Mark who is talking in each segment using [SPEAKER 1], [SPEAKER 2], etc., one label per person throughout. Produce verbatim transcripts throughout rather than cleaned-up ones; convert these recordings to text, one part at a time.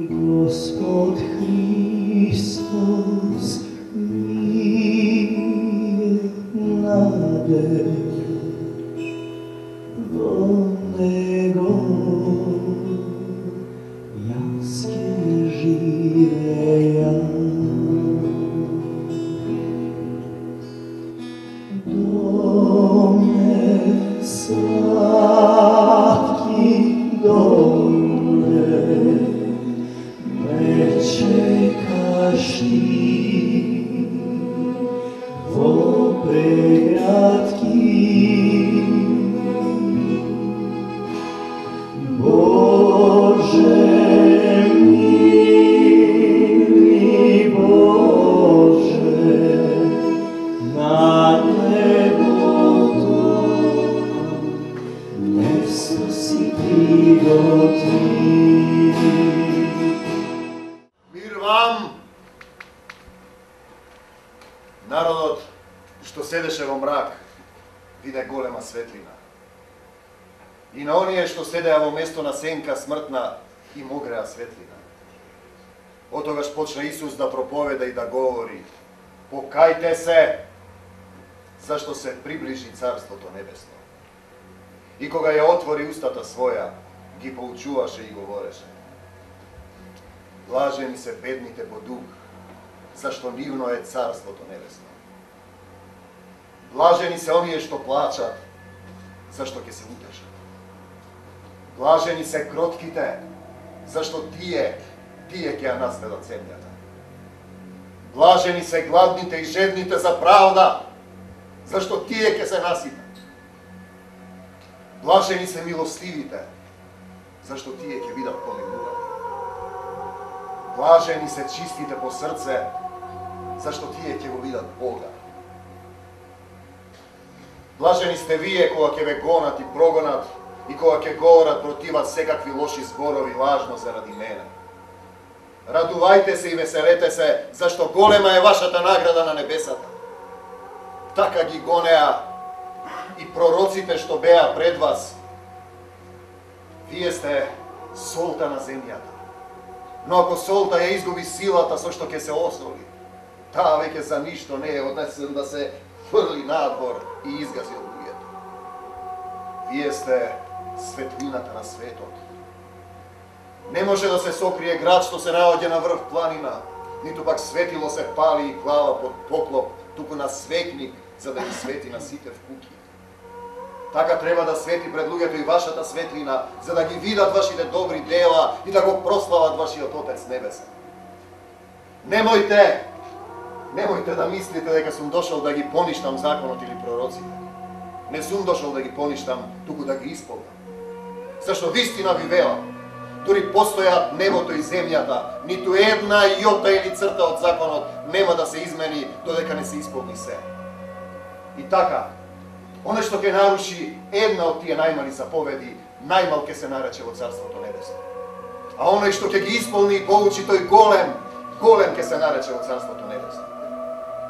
[SPEAKER 1] Gospod Hristos mi nade do Него јас ќе живеја доме сладки доме ме чекаш ти во преградки Боже мили Боже на небото место си приготви.
[SPEAKER 2] Народот што седеше во мрак виде голема светлина. И на оние што седеа во место на сенка смртна им огреа светлина. Отогаш почна Исус да проповеда и да говори: покајте се, зашто се приближи Царството Небесно. И кога ја отвори устата своја, ги поучуваше и говореше: блажени се бедните по дух, зашто нивно е Царството Небесно. Блажени се оние што плачат, зашто ќе се утешат. Блажени се кротките, зашто тие, тие ќе ја наследат земјата. Блажени се гладните и жедните за правда, зашто тие ќе се наситат. Блажени се милостивите, зашто тие ќе бидат помилувани. Блажени се чистите по срце, зашто тие ќе го видат Бога. Блажени сте вие кога ќе ве гонат и прогонат и кога ќе говорат против вас секакви лоши зборови лажно заради мене. Радувајте се и веселете се, зашто голема е вашата награда на небесата. Така ги гонеа и пророците што беа пред вас. Вие сте солта на земјата. Но ако солта ја изгуби силата со што ќе се осоли, таа веќе за ништо не е, однесен да се фрли надвор и изгази од луѓето. Вие сте светлината на светот. Не може да се сокрие град што се наоѓа на врв планина, ниту пак светило се пали и глава под поклоп, туку на светник, за да ги свети на сите вкуки. Така треба да свети пред луѓето и вашата светлина, за да ги видат вашите добри дела и да го прослават вашиот Отец Небесен. Немојте, немојте да мислите дека сум дошол да ги поништам законот или пророците. Не сум дошол да ги поништам, туку да ги исполнам. Зашто вистина ви велам, дури постојат небото и земјата, ниту една јота или црта од законот нема да се измени додека не се исполни се. И така, оне што ќе наруши една од тие најмали заповеди, најмал ќе се нарече во Царството Небесно. А оној што ќе ги исполни и поучи тој голем, голем ќе се нарече во Царството Небесно.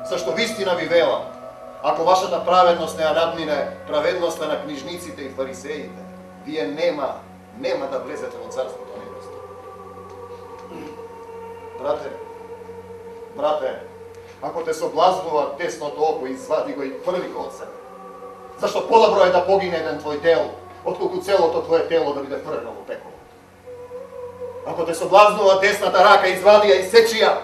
[SPEAKER 2] Зашто вистина ви велам, ако вашата праведност не ја надмине праведноста на книжниците и фарисеите, вие нема, нема да влезете во Царството Небесно. Брате, брате, ако те соблазнува десното око, извади го и фрли го од себе. Зашто подобро е да погине еден твој дел, отколку целото твое тело да биде фрлено во пеколо. Ако те соблазнува десната рака, извади ја и сечи ја,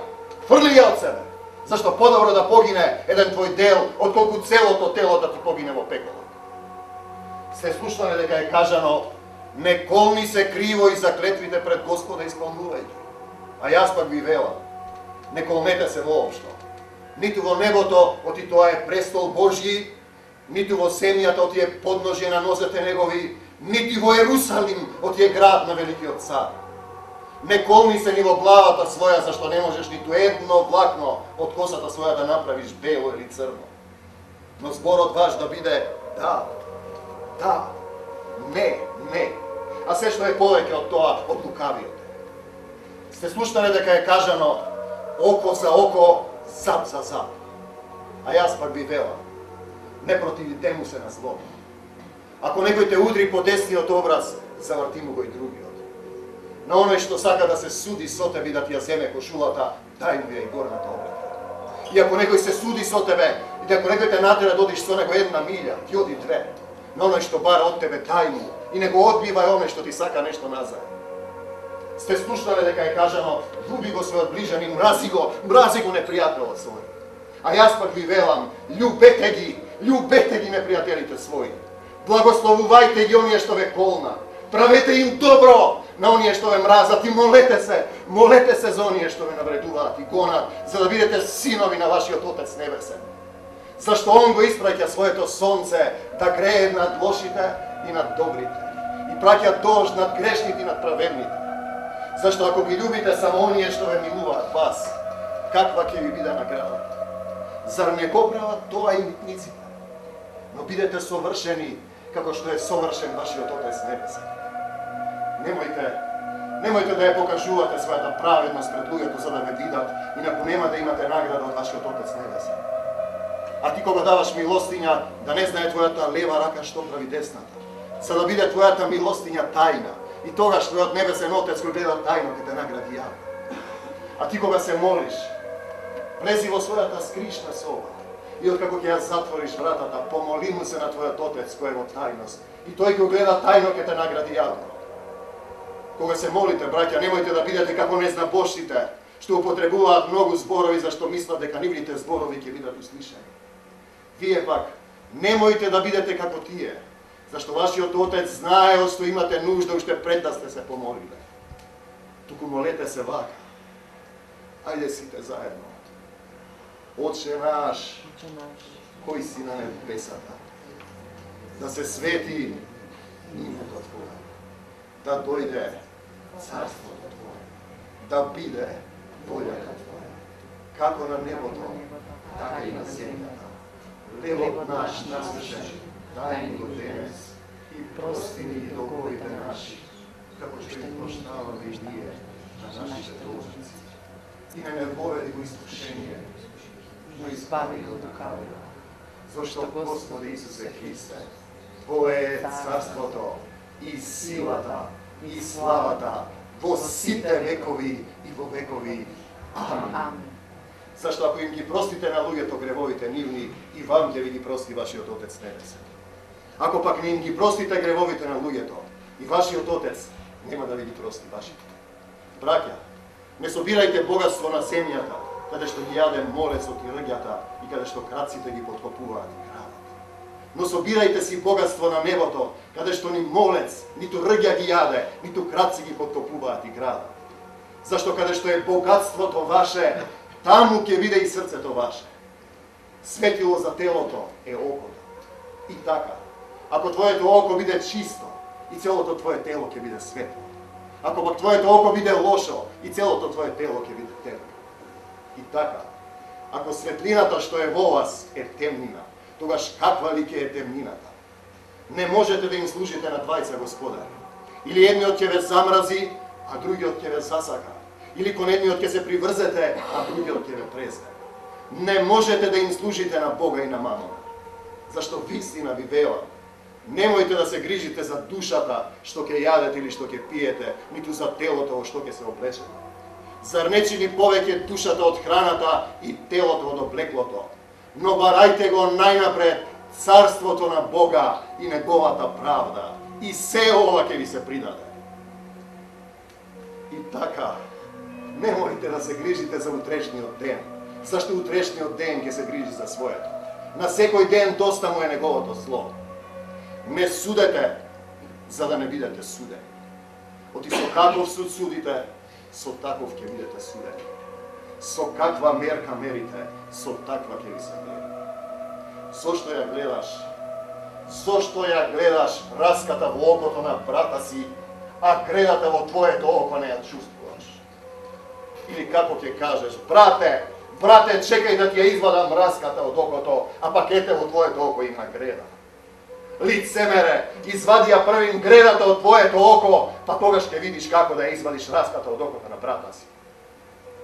[SPEAKER 2] фрли ја од себе. Зашто подобро да погине еден твој дел, отколку целото тело да ти погине во пеколо. Сте слушнале дека е кажано: не колни се криво и заклетвите пред Господа исполнувајќи. А јас пак ви велам, не колнете се воопшто. Ниту во небото, оти тоа е престол Божји, ниту во земјата, оти е подножје на нозете негови, ниту во Ерусалим, оти е град на великиот цар. Не колни се ни во главата своја, зашто не можеш ниту едно влакно од косата своја да направиш бело или црно. Но зборот ваш да биде да, да, не, не. А се што е повеќе од тоа, од лукавиот. Сте слушнале дека е кажано око за око, зап за зап. А јас пак ви велам, не противите му се на зло. Ако некој те удри по десниот образ, заврти му го и другиот. На оној што сака да се суди со тебе и да ти ја земе кошулата, дај му ја и горната облека. И ако некој се суди со тебе, и ако некој те натера да одиш со него една милја, ти оди две. На оној што бара од тебе, дај му. И не го одбивај оној што ти сака нешто назад. Сте слушнале дека е кажано, љуби го својот ближанин, мрази го, мрази го непријателот свој. А јас пак ви велам, љубете ги, љубете ги непријателите своји. Благословувајте ги оние што ве колна. Правете им добро на оние што ве мразат и молете се, молете се за оние што ве навредуваат и гонат, за да бидете синови на вашиот Отец Небесен. Зашто Он го испраќа своето сонце да грее над лошите и над добрите. И праќа дожд над грешните и над праведните. Зашто ако ги љубите само оние што ве милуваат вас, каква ќе ви биде наградата? Зар не го прават тоа и митниците? Но бидете совршени, како што е совршен вашиот Отец Небесен. Немојте, немојте да ја покажувате својата праведност пред луѓето за да ве видат, инаку нема да имате награда од вашиот Отец Небесен. А ти кога даваш милостиња, да не знае твојата лева рака што прави десната, за да биде твојата милостиња тајна, и тогаш твојот Небесен Отец кој гледа тајно ќе те награди јавно. А ти кога се молиш, влези во својата скришна соба, и откако ќе ја затвориш вратата, помоли му се на твојот Отец кој е во тајност, и тој кој гледа тајно ќе те награди јавно. Кога се молите, браќа, немојте да бидете како незнабожците, што употребуваат многу зборови зашто мислат дека нивните зборови ќе бидат услишани. Вие пак немојте да бидете како тие, зашто вашиот Отец знае од што имате нужда уште пред да сте се помолиле. Туку молете се вака. Ајде сите заедно. Отче наш, кој си на небесата, да се свети името Твое, да дојде царството Твое, да биде волјата Твоја, како на небото, така и на земјата. Левот наш насушен, дај ни го денес и прости ни долговите наши, како што и прощаваме и ние на нашите должници. И не ме поведи во искушение, но избави го од лукавиот. Зашто Господи Исусе Христе, Твое е царството и силата и славата во сите векови и во векови. Амин. Зашто ако им ги простите на луѓето гревовите нивни, и вам ќе ви ги прости вашиот Отец Небесен. Ако пак не им ги простите гревовите на луѓето, и вашиот Отец нема да ви ги прости вашите. Браќа, не собирајте богатство на земјата, каде што ги јаде морецот и рѓата и каде што крадците ги поткопуваат и крадат. Но собирајте си богатство на небото, каде што ни молец, ниту рѓа ги јаде, ниту крадци ги поткопуваат и крадат. Зашто каде што е богатството ваше, таму ќе биде и срцето ваше. Светило за телото е окото. И така, ако твоето око биде чисто, и целото твое тело ќе биде светло. Ако пак твоето око биде лошо, и целото твое тело ќе биде темно. И така, ако светлината што е во вас е темнина, тогаш каква ли ќе е темнината? Не можете да им служите на двајца господари. Или едниот ќе ве замрази, а другиот ќе ве засака. Или кон едниот ќе се приврзете, а другиот ќе ве презне. Не можете да им служите на Бога и на мамона. Зашто вистина ви велам, немојте да се грижите за душата што ќе јадете или што ќе пиете, ниту за телото во што ќе се облечете. Зар не чини повеќе душата од храната и телото од облеклото? Но барајте го најнапред царството на Бога и неговата правда, и се ова ќе ви се придаде. И така, немојте да се грижите за утрешниот ден, зашто утрешниот ден ќе се грижи за своето. На секој ден доста му е неговото зло. Не судете, за да не бидете судени. Оти со каков суд судите, со таков ќе бидете судени. Со каква мерка мерите, со таква ќе ви се мери. Зошто ја гледаш? Зошто ја гледаш раската во окото на брата си, а гредата во твоето око не ја чувствуваш? Или како ќе кажеш, брате, Брате, чекај да ти ја извадам мразката од окото, а пак ете во твоето око има греда. Лицемере, извади ја првим гредата од твоето око, па тогаш ќе видиш како да ја извадиш мразката од окото на брата си.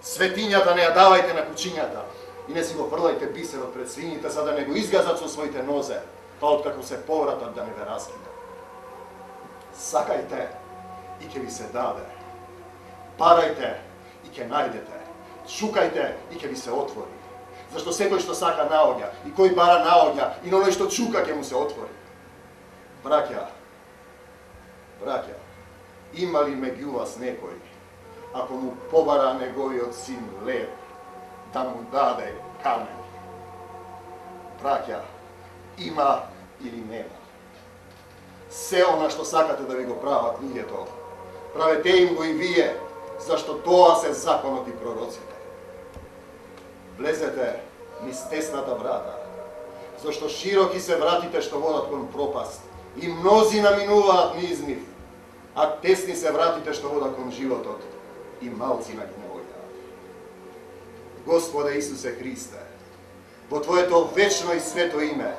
[SPEAKER 2] Светињата не ја давајте на кучињата и не си го фрлајте бисерот пред свините, за да не го изгазат со своите нозе, па откако се повратат да не ве раскинат. Сакајте и ќе ви се даде. Барајте и ќе најдете. Чукајте и ќе ви се отвори. Зашто секој што сака наоѓа, и кој бара наоѓа, и на оној што чука ќе му се отвори. Браќа, браќа, има ли меѓу вас некој, ако му побара неговиот син лев, да му даде камен? Браќа, има или нема? Се она што сакате да ви го прават луѓето, правете им го и вие, зашто тоа се законот и пророците. Влезете низ тесната врата, зашто широки се вратите што водат кон пропаст, и мнози наминуваат низ нив, а тесни се вратите што водат кон животот, и малци на ги наоѓаат. Господе Исусе Христе, во Твоето вечно и свето име,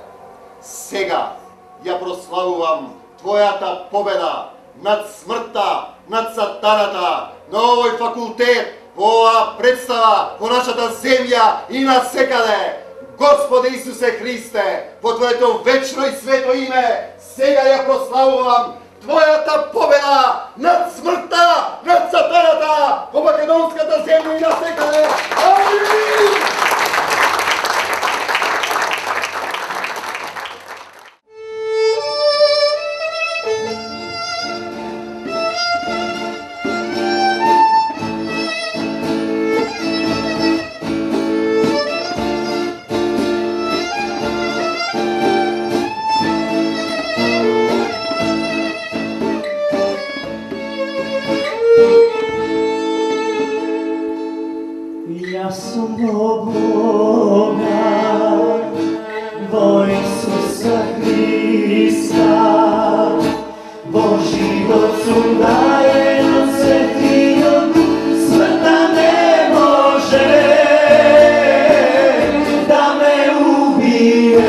[SPEAKER 2] сега ја прославувам Твојата победа над смртта, над сатаната, на овој факултет, во оваа представа, во нашата земја и насекаде. Господе Исусе Христе, во Твоето вечно и свето име, сега ја прославувам Твојата победа над смртта, над сатаната, во македонската земја и насекаде. Амин!
[SPEAKER 1] Јас сум во Бога, во Исуса Христа, во живот сум даен од Светиот Дух, смртта не може да ме убие.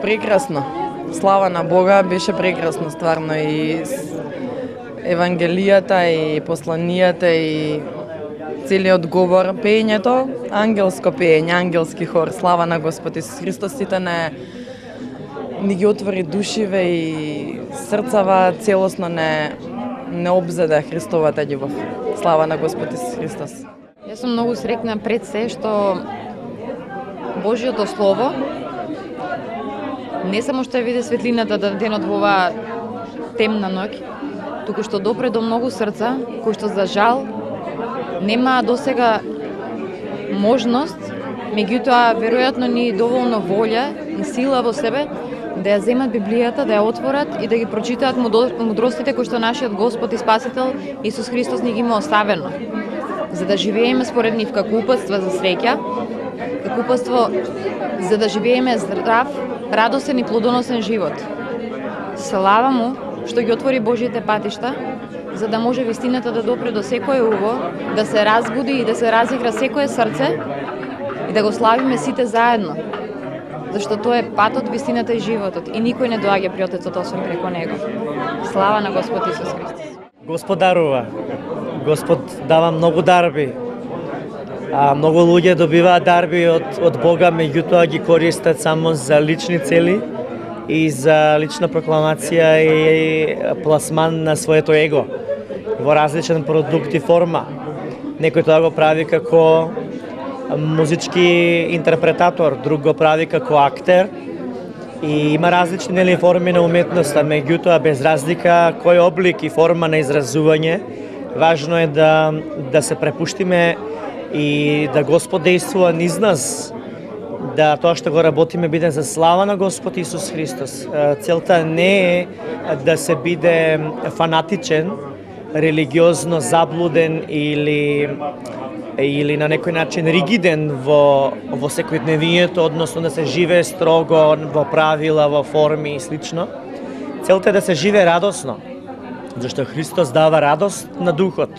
[SPEAKER 3] Прекрасно. Слава на Бога, беше прекрасно стварно и евангелијата и посланијата и целиот говор, пеењето, ангелско пеење, ангелски хор, слава на Господ Исус Христос, сите не ни ги отвори душиве и срцава, целосно не не обзеде Христовата љубов. Слава на Господ Исус Христос.
[SPEAKER 4] Јас сум многу среќна пред се што Божјото слово не само што ја види светлината да денот во оваа темна ноќ, туку што допре до многу срца, кои што за жал нема досега можност, меѓутоа веројатно ни доволно волја и сила во себе да ја земат Библијата, да ја отворат и да ги прочитаат мудростите кои што нашиот Господ и Спасител Исус Христос ни ги има оставено, за да живееме според нив како упатства за среќа, како упатство за да живееме здрав, радосен и плодоносен живот. Слава му што ги отвори Божјите патишта, за да може вистината да допре до секое уво, да се разбуди и да се разигра секое срце и да го славиме сите заедно. Зашто тоа е патот, вистината и животот и никој не доаѓа при Отецот освен преко него. Слава на Господ Исус Христос.
[SPEAKER 5] Господ дарува. Господ дава многу дарби. А многу луѓе добиваат дарби од од Бога, меѓутоа ги користат само за лични цели и за лична прокламација и пласман на своето его во различен продукт и форма. Некој тоа го прави како музички интерпретатор, друг го прави како актер и има различни нели форми на уметноста, меѓутоа без разлика кој облик и форма на изразување, важно е да да се препуштиме и да Господ действува низ нас, да тоа што го работиме биде за слава на Господ Исус Христос. Целта не е да се биде фанатичен, религиозно заблуден или или на некој начин ригиден во во секојдневието, односно да се живее строго во правила, во форми и слично. Целта е да се живее радосно, зашто Христос дава радост на духот.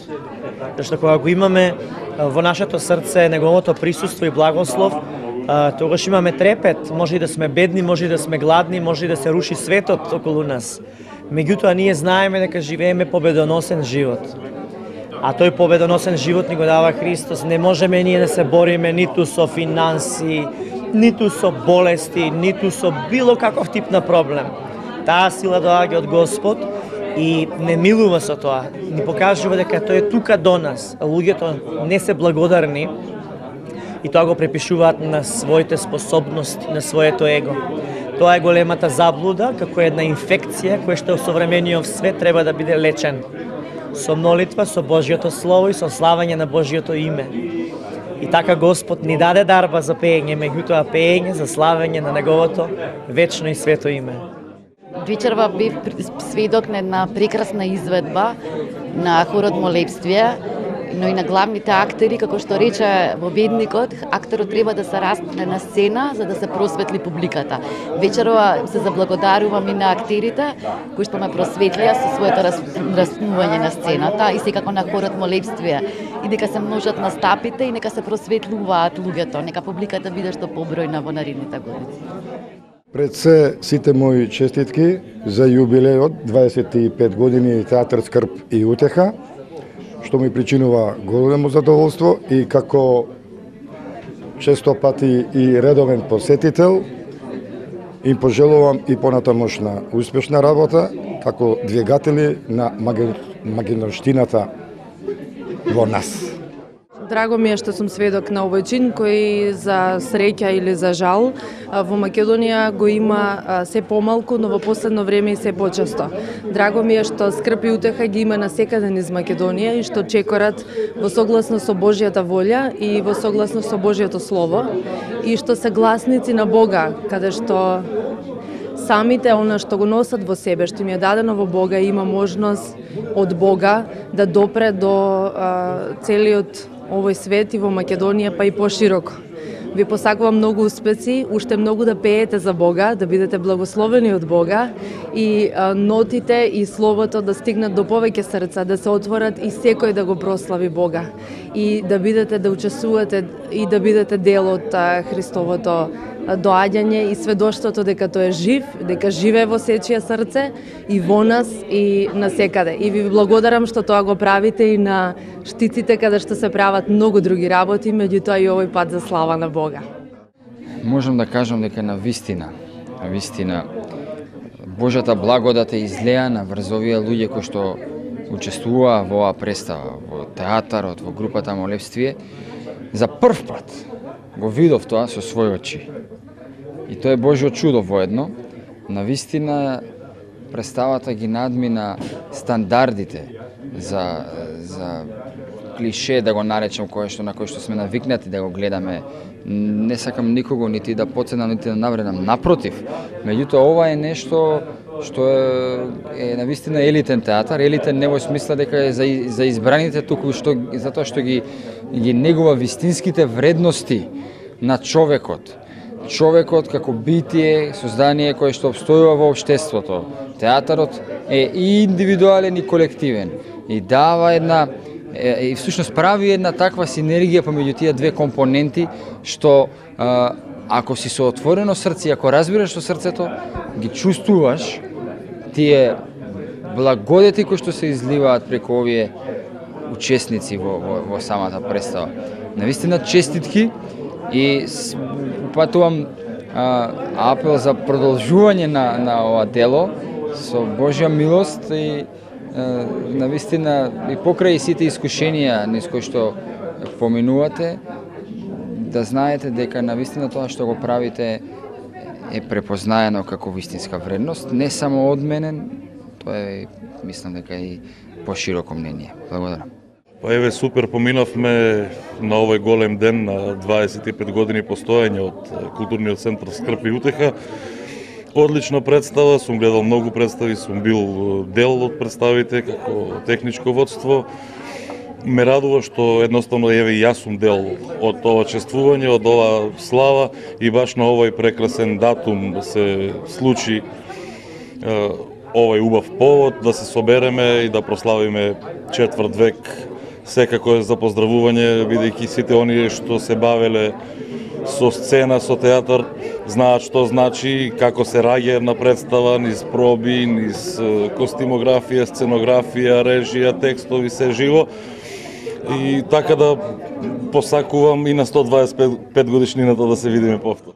[SPEAKER 5] Зашто кога го имаме во нашето срце неговото присуство и благослов, тогаш имаме трепет, може и да сме бедни, може и да сме гладни, може и да се руши светот околу нас. Меѓутоа ние знаеме дека живееме победоносен живот. А тој победоносен живот ни го дава Христос. Не можеме ние да се бориме ниту со финанси, ниту со болести, ниту со било каков тип на проблем. Таа сила доаѓа од Господ и не милува со тоа. Ни покажува дека тој е тука до нас. Луѓето не се благодарни и тоа го препишуваат на своите способности, на своето его. Тоа е големата заблуда, како една инфекција која што во современиот свет треба да биде лечен. Со молитва, со Божјото Слово и со славање на Божјото име. И така Господ ни даде дарба за пеење, меѓутоа пеење за славање на Неговото вечно и свето име.
[SPEAKER 6] Вечерва бев сведок на една прекрасна изведба на хорот молебствие, но и на главните актери, како што рече вобедникот, актерот треба да се распне на сцена за да се просветли публиката. Вечерва се заблагодарувам и на актерите кои што ме просветлија со своето распнување на сцената и секако на хорот молебствие. И дека се множат настапите и нека се просветлуваат луѓето, нека публиката биде што побројна во наредните години.
[SPEAKER 7] Пред се сите мои честитки за јубилејот дваесет и пет години театар Скрб и утеха, што ми причинува големо задоволство и како често пати и редовен посетител им пожелувам и понатамошна успешна работа како двигатели на магинорштината во нас.
[SPEAKER 3] Драго ми е што сум сведок на овој чин кој за среќа или за жал во Македонија го има се помалку, но во последно време и се почесто. Драго ми е што Скрб и утеха ги има насекаде низ Македонија и што чекорат во согласно со Божјата волја и во согласно со Божјото Слово и што се гласници на Бога, каде што самите она што го носат во себе, што им е дадено во Бога, има можност од Бога да допре до а, целиот овој свет и во Македонија, па и пошироко. Ви посакувам многу успеси, уште многу да пеете за Бога, да бидете благословени од Бога и а, нотите и словото да стигнат до повеќе срца, да се отворат и секој да го прослави Бога и да бидете да учествувате и да бидете дел од а, Христовото доаѓање и сведоштвото дека тој е жив, дека живее во сечие срце и во нас и насекаде. И ви благодарам што тоа го правите и на штиците каде што се прават многу други работи, меѓутоа и овој пат за слава на Бога.
[SPEAKER 8] Можам да кажам дека на вистина, на вистина Божјата благодат е излеана врз овие луѓе кои што учествуваа во оваа представа, во театарот, во групата молебствие. За прв пат го видов тоа со своји очи. И тоа е Божјо чудо воедно. На вистина представата ги надмина стандардите за, за клише, да го наречам, кое што, на кој што сме навикнати да го гледаме. Не сакам никого нити да поценам, нити да навредам. Напротив, меѓутоа ова е нешто што е, е на вистина елитен театар. Елитен не во смисла дека е за, за избраните, туку што, затоа што ги, ги негува вистинските вредности на човекот. Човекот како битие, создание кое што обстојува во општеството. Театарот е и индивидуален и колективен и дава една и всушност прави една таква синергија помеѓу тие две компоненти што а, ако си со отворено срце, ако разбираш со срцето, ги чувствуваш тие благодети кои што се изливаат преку овие учесници во, во, во самата представа. Навистина честитки и упатувам а, апел за продолжување на, на ова дело со Божја милост и а, навистина и покрај сите искушенија низ кои што поминувате, да знаете дека навистина тоа што го правите е препознаено како вистинска вредност, не само од мене, тоа е, мислам дека и пошироко мнение. Благодарам.
[SPEAKER 9] Па еве супер, поминавме на овој голем ден на дваесет и пет години постоење од културниот центар Скрб и утеха. Одлична представа, сум гледал многу представи, сум бил дел од представите како техничко водство. Ме радува што едноставно еве јас сум дел од ова чествување, од ова слава и баш на овој прекрасен датум се случи овој убав повод да се собереме и да прославиме четврт век секако е за поздравување, бидејќи сите оние што се бавеле со сцена, со театар, знаат што значи, како се раѓа една представа, низ проби, низ костимографија, сценографија, режија, текстови, се живо. И така да посакувам и на сто дваесет и пет годишнината да се видиме повтор.